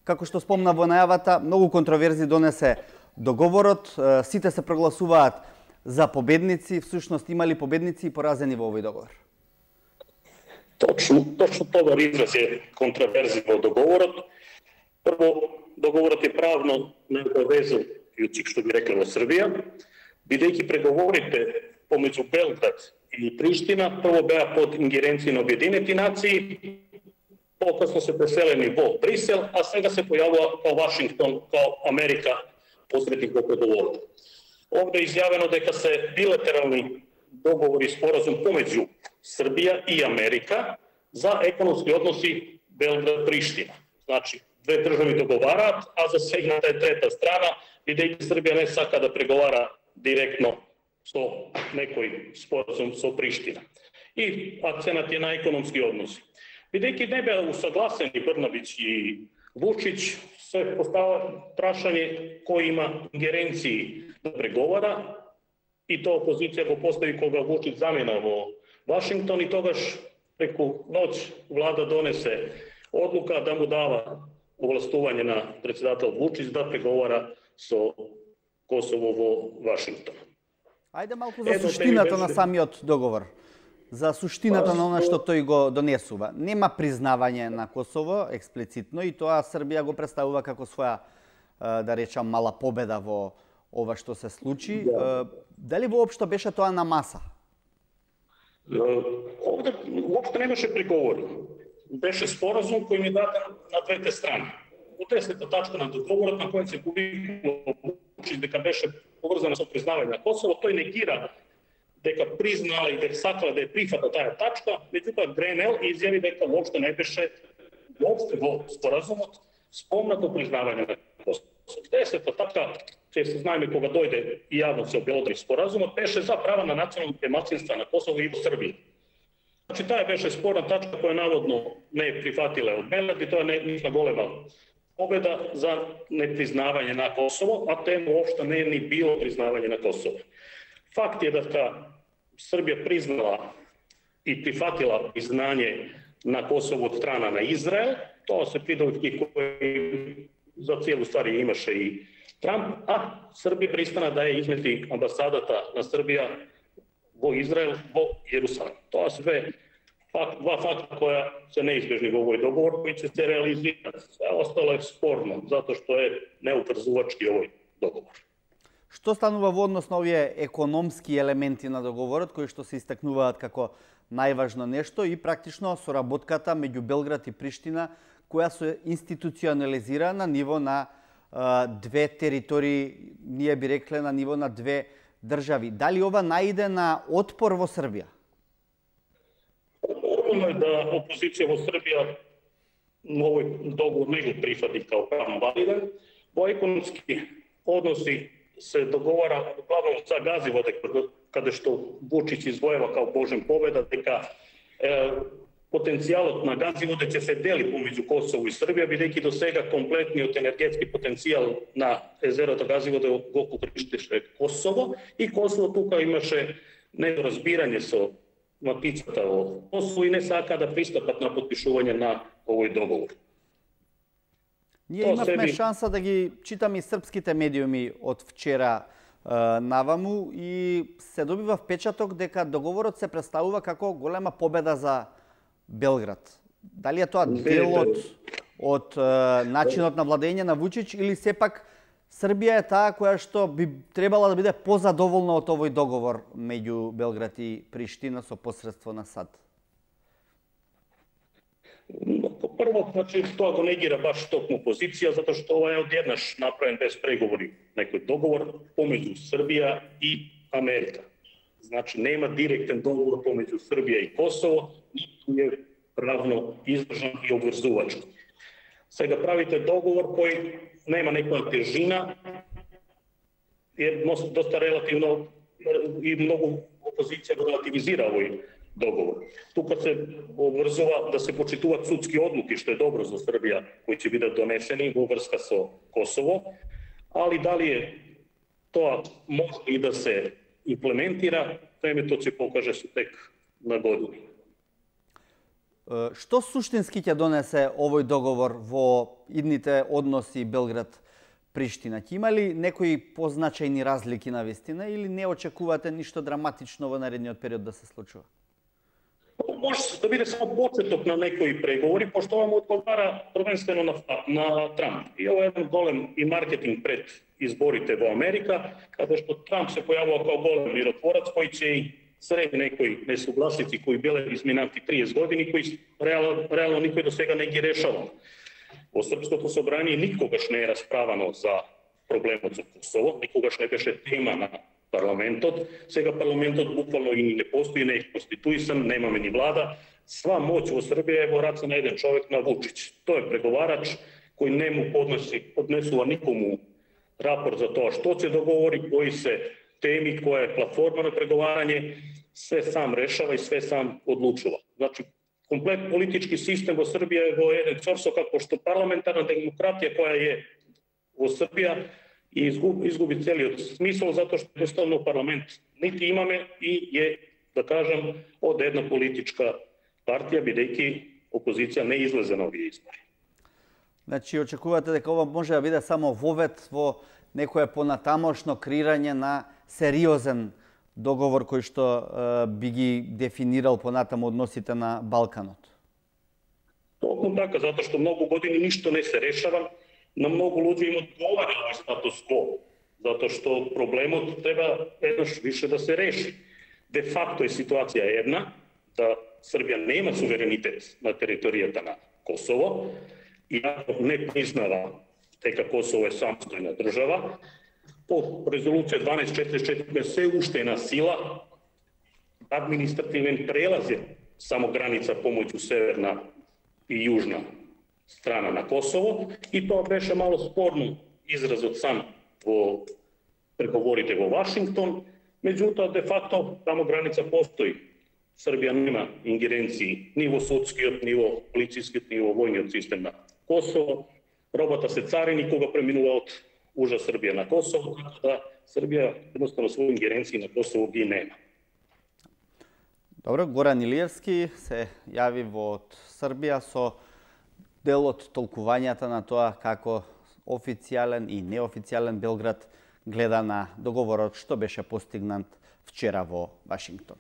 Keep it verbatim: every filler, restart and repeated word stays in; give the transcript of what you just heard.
Како што спомна во најавата, многу контроверзи донесе договорот, сите се прогласуваат за победници, всушност има ли победници и поразени во овој договор? Точно, точно тоа израз е контроверзи во договорот. Прво, договорот е правно необавезен јуцик, што би рекле во Србија, бидејќи преговорите помеѓу Белград и Приштина прво беа под ингеренција на Обединети нации, покасно се преселени во Брисел, а сега се појавува као Вашингтон, као Америка посредник во преговорот. Овде е изјавено дека се билатерални договори и споразум помеѓу Србија и Америка за економски односи Белград-Приштина. Значи, две држави договараат, а засегната е трета страна, бидејќи Србија не сака да преговара директно со некој споразум со Приштина. И акценат е на економски односи. Бидејќи не беа усагласени Брнабич и Вучич, се постава прашање кој има ингеренции да преговара, и тоа опозиција го постави кога Вучич замена во Вашингтон, и тогаш преку ноќ влада донесе одлука да му дава овластување на председател Вучич да преговара со Косово во Вашингтон. Ајде малку за суштината на самиот договор. За суштината на она што тој го донесува. Нема признавање на Косово експлицитно, и тоа Србија го представува како своја, да речам, мала победа во ова што се случи. Да. Дали воопшто беше тоа на маса? Овде воопшто немаше приговори. Беше споразум кој ми даден на двете страни. Во десета тачка на договорот на кој се публикува дека беше поврзана со признавање на Косово, тој негира дека признала и дека сакала да ја прифата таа тачка, меѓутоа Гренел изјави дека воопшто не беше воопшто во споразумот спомнато признавање на Косово. Десета тачка, че се знаеме кога дојде и јавно се обелодри споразумот, беше за права на националните малцинства на Косово и во Србија. Значи таа беше спорна тачка која наводно не е прифатила од Белград, и тоа не е голема победа за непризнавање на Косово, а тема уопшто не е ни било признавање на Косово. Факт е дека Србија признала и прифатила признање на Косово од страна на Израел, тоа се придобивки кои за целу ствари имаше и Трамп, а Србија пристана да ја измести амбасадата на Србија во Израел, во Јерусалим. Тоа се две факт, два факта која се неизбежни во овој договор, кои ќе се реализираат. Се остало е спорно, затоа што е неупрзувачки овој договор. Што станува во однос на овие економски елементи на договорот, кои што се истакнуваат како најважно нешто, и практично соработката меѓу Белград и Приштина, која се институционализира на ниво на а, две територии, ние би рекле на ниво на две држави. Дали ова наиде на отпор во Србија? Нормално е да опозиција во Србија овој договор не го прифати као правно валиден. Во економски односи се договара главно за газиво, каде што Вучич извоева као божен победа, дека е, потенцијалот на газиводе ќе се дели помеѓу Косово и Србија, бидејќи до сега комплетниот енергетски потенцијал на езерото газиводе го покриштеше Косово, и Косово тука имаше недоразбирање со матицата во Косово и не сака да пристапат на подпишување на овој договор. Ние имавме себе... шанса да ги читаме и српските медиуми од вчера е, наваму, и се добива впечаток дека договорот се представува како голема победа за Белград. Дали е тоа дел од, од е, начинот на владење на Вучич, или сепак Србија е таа која што би требала да биде позадоволна од овој договор меѓу Белград и Приштина со посредство на САД? Прво, значи, тоа го негира баш токму позиција, затоа што ова е одеднаш направен без преговори некој договор помеѓу Србија и Америка. Значи, нема директен договор помеѓу Србија и Косово, ниту е правно издржан и обврзувачки. Сега правите договор кој нема некоја тежина, е доста релативно и многу опозиција го релативизира овој договор. Тука се обврзува да се почитуваат судски одлуки, што е добро за Србија, кои ќе бидат донесени во врска со Косово, али дали е тоа може и да се имплементира, времето ќе покаже со тек на години. Што суштински ќе донесе овој договор во идните односи Белград-Приштина? Ќе има ли некои позначајни разлики на вистина или не очекувате ништо драматично во наредниот период да се случува? Може да биде само почеток на некои преговори, пошто ова му одговара првенствено на, на Трамп. И ова е еден голем и маркетинг пред изборите во Америка, каде што Трамп се појавува како голем миротворац, кој ќе и среди некои несугласици кои биле изминати триесет години, кои реално, реално никој до сега не ги решава. Во Српското собрание никогаш не е расправано за проблемот со Косово, никогаш не беше тема на парламентот. Сега парламентот буквално и не постои, не е конституисан, немаме ни влада. Сва моќ во Србија е во раце на еден човек, на Вучич. Тој е преговарач кој не му подноси, поднесува никому рапорт за тоа што ќе договори, кои се теми, која е платформа на преговарање, све сам решава и све сам одлучува. Значи, комплет политички систем во Србија е во еден цорсокак, пошто парламентарна демократија која е во Србија и изгуби, изгуби целиот смисол, затоа што едноставно парламент нити имаме и е, да кажам, од една политичка партија, бидејќи опозиција не излезе на овие избори. Значи, очекувате дека ова може да биде само вовет во некое понатамошно креирање на сериозен договор кој што е, би ги дефинирал понатаму односите на Балканот? Токму така, затоа што многу години ништо не се решава, на многу луѓе им одговара овој статус кво, затоа што проблемот треба еднаш више да се реши. Де факто е ситуација една, да Србија нема суверенитет на територијата на Косово, иако не признава дека Косово е самостојна држава. По резолуција дванаесет четириесет четири се уште е на сила административен прелаз е само граница помеѓу северна и јужна страна на Косово, и тоа беше мало спорно изразот сам во преговорите во Вашингтон, меѓутоа де факто тамо граница постои. Србија нема ингеренции ни во судскиот, ни во полицискиот, ни во војниот систем на Косово. Робата се царини кога преминува од ужа Србија на Косово, така да Србија едноставно своји ингеренции на Косово ги нема. Добро, Горан Илиевски се јави во Србија со дел од толкувањата на тоа како официјален и неофицијален Белград гледа на договорот што беше постигнат вчера во Вашингтон.